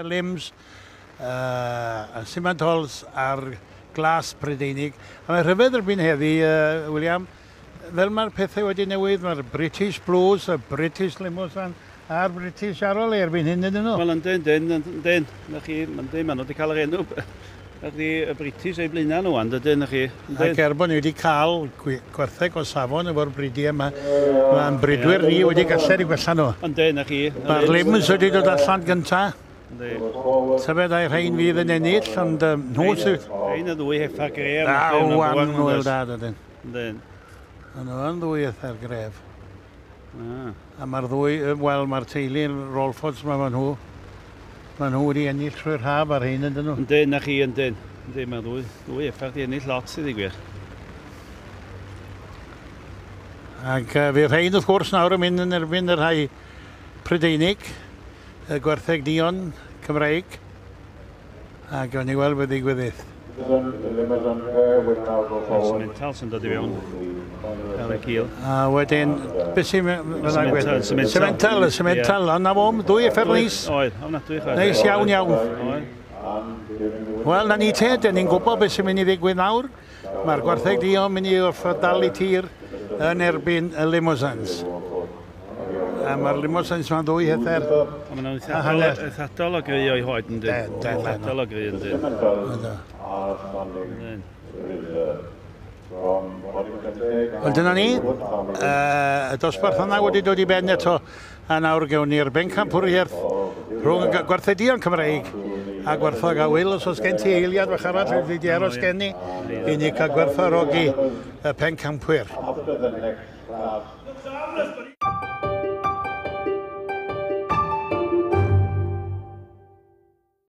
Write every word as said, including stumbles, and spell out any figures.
Lims, uh, Simmentals a'r glas Prydeinig. A mae rhyfedd erbyn heddi, uh, William, fel mae'r pethau wedi newid, mae'r British Blues, y British Limousin a'r British Charolais erbyn hyn ydyn nhw. Wel, yndyn, yndyn, yndyn. Na chi, yndyn, maen nhw wedi cael yr enw. Na chdi, y British eu blaenau nhw, yndyn, na chi. Ac er bod ni wedi cael gwartheg o safon efo'r bridiau yma, mae'n bridwyr ni wedi gallu i gwella nhw. Yndyn, na chi. Mae'r Lims wedi dod allan gyntaf. Tybed ai rhain fydd yn ennill, ond um, nhw sydd... Rhain y ddwy heffa gref. Da, wan nhw da, dydyn. Yndyn. Nhw yn ddwy heffa'r gref. Ah. A mae'r ddwy, wel, mae'r teulu'n Rolfords, mae nhw. Mae nhw wedi ennill trwy'r haf ar hyn, ydyn nhw. Yndyn, na chi, yndyn. Yndyn, mae'r ddwy, ddwy heffa wedi ennill lot, sydd i gwir. Ac uh, fydd rhain, wrth gwrs, nawr yn mynd yn erbyn y rhai Prydeinig, y gwartheg duon Cymreig, a gawn ni weld beth ddigwyddith. Simmental sy'n dod i fewn ar y cil. A wedyn, beth sy'n Simmental, Simmental, Simmental, ond na fo, dwy effer neis. Oedd, ofnadwy chwaith. Neis iawn iawn. Wel, na ni te, dyn ni'n gwybod beth sy'n mynd i ddigwydd nawr. Mae'r gwartheg duon mynd i orfod dal i tir yn erbyn y Limousins. A mae'r Limousins ma'n ddwy heffer. A maen nhw'n eithadol o gry o'i hoed yn dyn. Eithadol o gry yn dyn. Wel, dyna ni. Y dosbarth yna wedi dod i ben eto. A nawr gewn ni'r bencampwriaeth rhwng gwartheg duon Cymreig a gwartheg a Wil. Os oes gen ti eiliad fach arall, wedi di aros gen i, i ni cael gwerthfawrogi y pencampwyr.